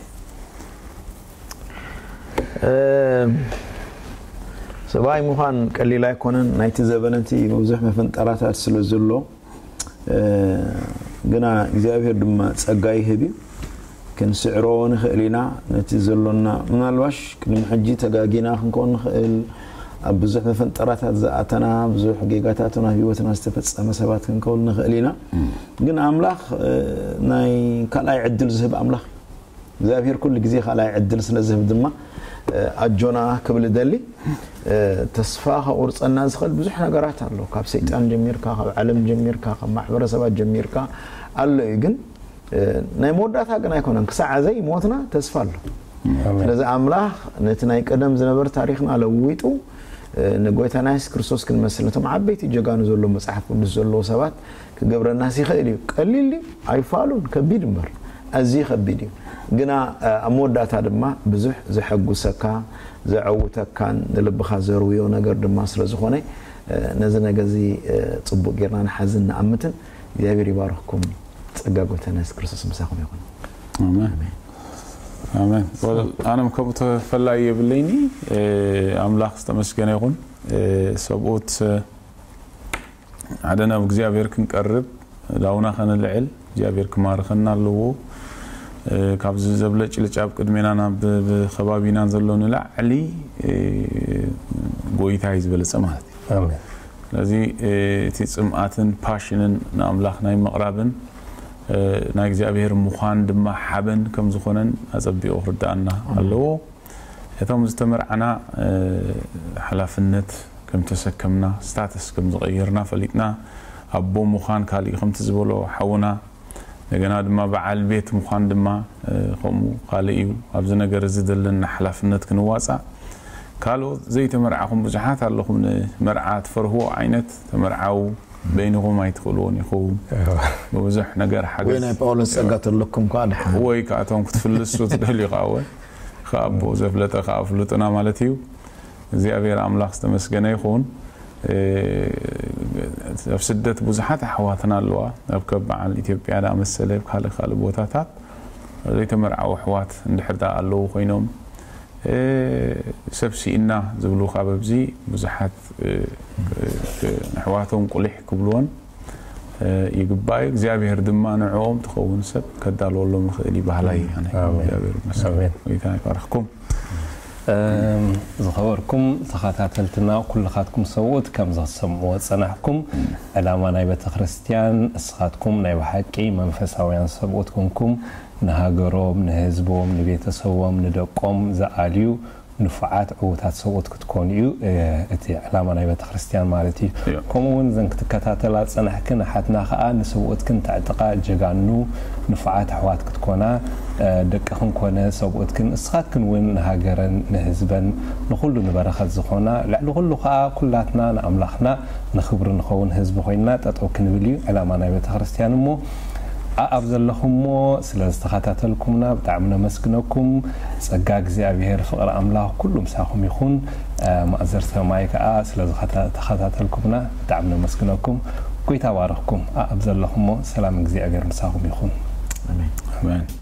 ሰብኣይ ምዃን ቀሊል ኣይኮነን። ናይቲ ዘበነቲ ብዙሕ መፈንጠራታት ስለ ዘሎ ግና እግዚኣብሔር ድማ ጸጋ ይህብ እዩ። ክንስዕሮ ንኽእል ኢና። ነቲ ዘሎና ምናልባሽ ቅድሚ ሕጂ ተጋጊና ክንከውን ንኽእል፣ ኣብ ብዙሕ መፈንጠራታት ዝኣተና፣ ብዙሕ ጌጋታት ናብ ህይወትና ዝተፈጸመ ሰባት ክንከውን ንኽእል ኢና። ግን ኣምላኽ ናይ ካልኣይ ዕድል ዝህብ ኣምላኽ እዩ። እግዚኣብሔር ኩሉ ግዜ ካልኣይ ዕድል ስለ ዝህብ ድማ ኣጆና ክብል እደሊ። ተስፋ ከቑርፀና ዝኽእል ብዙሕ ነገራት ኣሎ። ካብ ሰይጣን ጀሚርካ፣ ካብ ዓለም ጀሚርካ፣ ካብ ማሕበረሰባት ጀሚርካ ኣሎ እዩ። ግን ናይ መወዳእታ ግን ኣይኮነን። ክሳዕ ዘይ ሞትና ተስፋ ኣሎ። ስለዚ ኣምላኽ ነቲ ናይ ቀደም ዝነበር ታሪኽና ለዊጡ ንጎይታና የሱስ ክርስቶስ ክንመስል ነቶም ዓበይቲ ጀጋኑ ዘሎ መጽሓፍ ቅዱስ ዘለዎ ሰባት ክገብረናስ ይኽእል እዩ። ቀሊል እዩ ኣይፋሉን፣ ከቢድ እምበር ኣዝዩ ከቢድ እዩ። ግና ኣብ መወዳእታ ድማ ብዙሕ ዘሐጉሰካ ዘዐውተካን ንልብኻ ዘርውዮ ነገር ድማ ስለ ዝኾነ ነዚ ነገር እዚ ጽቡቕ ጌርና ንሓዝን ንኣምትን። እግዚኣብሔር ይባርኽኩም። ጸጋ ጎይታና የሱስ ክርስቶስ ምሳኹም ይኹን። ኣሜን። ኣሜን። ኣነም ከምኡ ተፈላይ የብለይኒ። ኣምላኽ ዝተመስገነ ይኹን። ሰብኡት ሓደ ናብ እግዚኣብሔር ክንቀርብ ዳውና ከነልዕል እግዚኣብሔር ክማርኸና ኣለዎ። ካብዚ ዘብለጭልጭ ኣብ ቅድሜና ናብ ከባቢና ዘሎ ንላዕሊ ጎይታ እዩ ዝበለጸ ማለት እዩ። ስለዚ እቲ ጽምኣትን ፓሽንን ንኣምላኽ ናይ ምቕራብን ናይ እግዚኣብሔር ምዃን ድማ ሓበን ከም ዝኾነን ኣጸቢቑ ክርድኣና ኣለዎ። እቶም ዝተመርዓና ሓላፍነት ከም ተሰከምና ስታተስ ከም ዝቐየርና ፈሊጥና ኣቦ ምዃን ካልእ ከምቲ ዝበሎ ሓውና እንደገና ድማ በዓል ቤት ምዃን ድማ ከምኡ ካልእ እዩ። ኣብዚ ነገር እዚ ዘለና ሓላፍነት ክንዋፃእ ካልኦት ዘይተመርዓኹም ብዙሓት ኣለኹም። ንመርዓ ትፈርህዎ ዓይነት ተመርዓው በይንኹም ኣይትኽእልዎን ኢኹም። ብብዙሕ ነገር ወይ ሓገዝ ናይ ጳውሎስ ጸጋ ተለኩም ከኣ ድሓን ወይ ከኣቶም ክትፍልሱ ትደልዩ ከኣ ወይ ከኣቦ ዘፍለጠ ከኣ ፍሉጥና ማለት እዩ። እግዚኣብሔር ኣምላኽ ዝተመስገነ ይኹን። ኣብ ስደት ብዙሓት ኣሕዋትና ኣለዋ። ኣብ ከብ በዓል ኢትዮጵያ ዳኣመሰለ ኣብ ካልእ ካልእ ቦታታት ዘይተመርዓው ኣሕዋት እንድሕር ዳ ኣለዉ ኮይኖም ሰብ ስኢና ዝብሉ ካብ ኣብዚ ብዙሓት ንኣሕዋቶም ቁሊሕ ክብልዎን ይግባእ እዩ። እግዚኣብሔር ድማ ንዕኦም ትኸውን ሰብ ከዳልወሎም ይኽእል እዩ በሃላይ እየ ኣነ። ኣሜን። እግዚኣብሔር ይመስገን። ኣሜን። ጎይታ ይባርኽኩም። ዝኸበርኩም ተኸታተልትና ኩልኻትኩም ሰብኡት ከም ዝሰምዕዎ ዝጸናሕኩም ዕላማ ናይ ቤተ ክርስቲያን እስኻትኩም ናይ ብሓቂ መንፈሳውያን ሰብኡት ኮንኩም ንሃገሮም ንህዝቦም ንቤተሰቦም ንደቆም ዝኣልዩ ንፉዓት ዕዉታት ሰብኡት ክትኮኑ እዩ እቲ ዕላማ ናይ ቤተ ክርስቲያን ማለት እዩ። ከምኡ እውን እዘን ክትከታተላ ዝጸናሕክን ኣሓትና ከኣ ንሰብኡትክን ተዕጥቓ ጀጋኑ ንፉዓት ኣሕዋት ክትኮና ደቅኽን ኮነ ሰብኡትክን እስኻትክን እውን ንሃገረን ንህዝበን ንኹሉ ንበረኸት ዝኾና ልዕሊ ኩሉ ከኣ ኩላትና ንኣምላኽና ንኽብሪ ንኸውን ህዝቢ ኮይንና ጠጠው ክንብል እዩ ዕላማ ናይ ቤተ ክርስቲያን እሞ ኣኣብ ዘለኹሞ ስለ ዝተኸታተልኩምና ብጣዕሚ ነመስግነኩም። ጸጋ እግዚኣብሔር ፍቕሪ ኣምላኽ ኩሉ ምሳኹም ይኹን። ማእዘር ሰማይ ከኣ ስለ ዝተኸታተልኩምና ብጣዕሚ ነመስግነኩም። ጎይታ ባረኽኩም። ኣኣብ ዘለኹሞ ሰላም እግዚኣብሔር ምሳኹም ይኹን። ኣሜን።